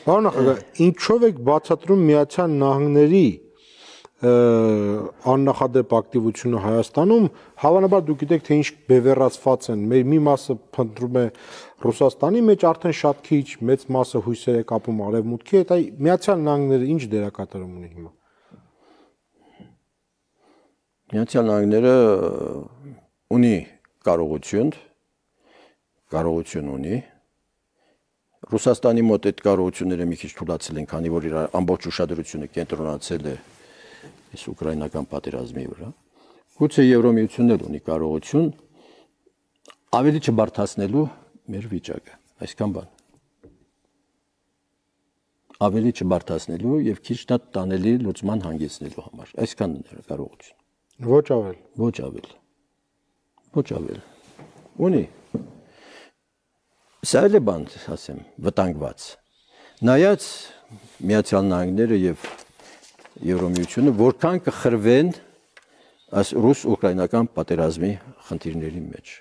Պարոն նախագահ, ինչով եք բացատրում Միացյալ Նահանգների աննախադեպ ակտիվությունը Հայաստանում, հավանաբար դուք գիտեք, թե ինչ բևեռացված են, մեր մի մասը փնտրում է Ռուսաստանի մեջ, արդեն շատ քիչ, մեծ մասը հույսեր է կապում արևմուտքի հետ, այ Միացյալ Նահանգները ինչ դերակատարում ունի հիմա։ Միացյալ Նահանգները ունի կարողություն ունի։ Ռուսաստանի մոտ այդ կարողությունները մի քիչ թուլացել են, քանի որ իր ամբողջ ուշադրությունը կենտրոնացել է այս ուկրաինական պատերազմի վրա։ Գուցե Եվրոմիությունն էլ ունի կարողություն ավելի չբարդացնելու մեր վիճակը, այսքան բան։ Ավելի չբարդացնելու եւ քիչ տանելի լուծման հանգեցնելու համար, այսքան կարողություն։ Ոչ ավել։ Ոչ ավել։ Ոչ ավել։ Ունի։ Սա էլ է բան, ասեմ, վտանգված։ Նայած Միացյալ Նահանգները եւ Եվրոմիությունը որքան կխրվեն այս ռուս-ուկրաինական պատերազմի խնդիրների մեջ։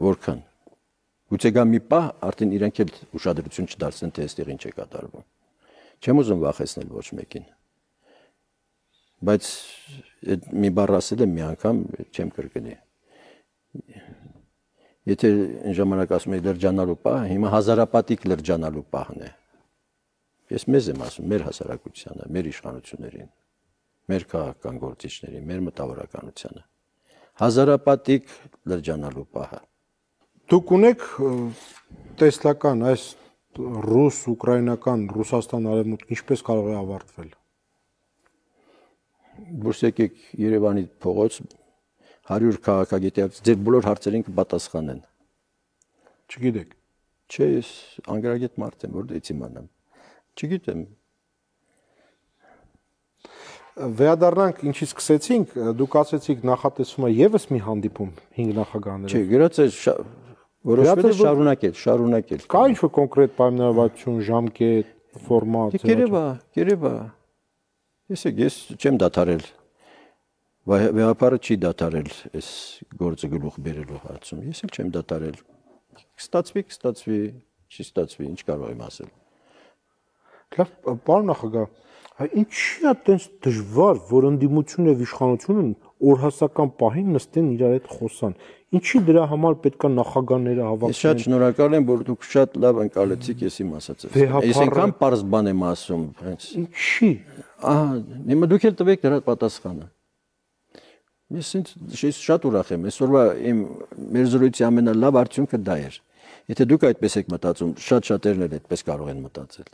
Որքան։ Գուցե գա մի պահ արդեն իրենք էլ ուշադրություն չդարձնեն, թե այստեղ ինչ է կատարվում։ Չեմ ուզում վախեցնել ոչ մեկին։ Բայց այդ մի բառ ասել եմ մի անգամ, չեմ կրկնի։ Եթե այն ժամանակ ասում էի լրջանալու պահ, հիմա հազարապատիկ լրջանալու պահն է։ Ես մեզ եմ ասում, մեր հասարակությանը, մեր իշխանություններին, մեր քաղաքական գործիչներին, մեր մտավորականությանը։ Հազարապատիկ լրջանալու պահը։ Դուք ունեք տեսլական այս ռուս-ուկրաինական Ռուսաստան արևմուտք ինչպես կարող է ավարտվել։ Դուրս եկեք Երևանի փողոց 100 քաղաքագետի ձեր բոլոր հարցերին կպատասխանեն։ Չգիտեք։ Չէ, ես անգրագետ մարդ եմ, որտեղից իմանամ։ Չգիտեմ։ Վերադառնանք ինչի սկսեցինք, դուք ասեցիք նախատեսվում է եւս մի հանդիպում 5 նախագահաներով։ Չէ, գրած է որոշվել է շարունակել։ Կա ինչ-որ կոնկրետ պայմանավորվածություն, ժամկետ, ֆորմատ։ Երևա։ Ես չեմ դադարել։ Վեհապարը չի դադարել այս գործը գլուխ բերելու հարցում։ Ես էլ չեմ դադարել։ Կստացվի, չի ստացվի, ինչ կարող եմ ասել։ Լավ, պարոն նախագահ, ինչի՞ է այդպես դժվար, որ ընդդիմությունն եւ իշխանությունն օրհասական պահին նստեն իրար հետ խոսան։ Ինչի դրա համար պետք է նախագահները հավաքվեն։ Ես շատ շնորհակալ եմ, որ դուք շատ լավ ընկալեցիք ես իմ ասածը։ Ես այնքան պարզ բան եմ ասում, հենց։ Ինչի։ Ահա, հիմա դուք էլ տվեք դրա պատասխանը։ Ես շատ ուրախ եմ, այսօրվա մեր զրույցի ամենալավ արդյունքը դա էր։ Եթե դուք այդպես եք մտածում, շատ շատերն էլ այդպես կարող են մտածել։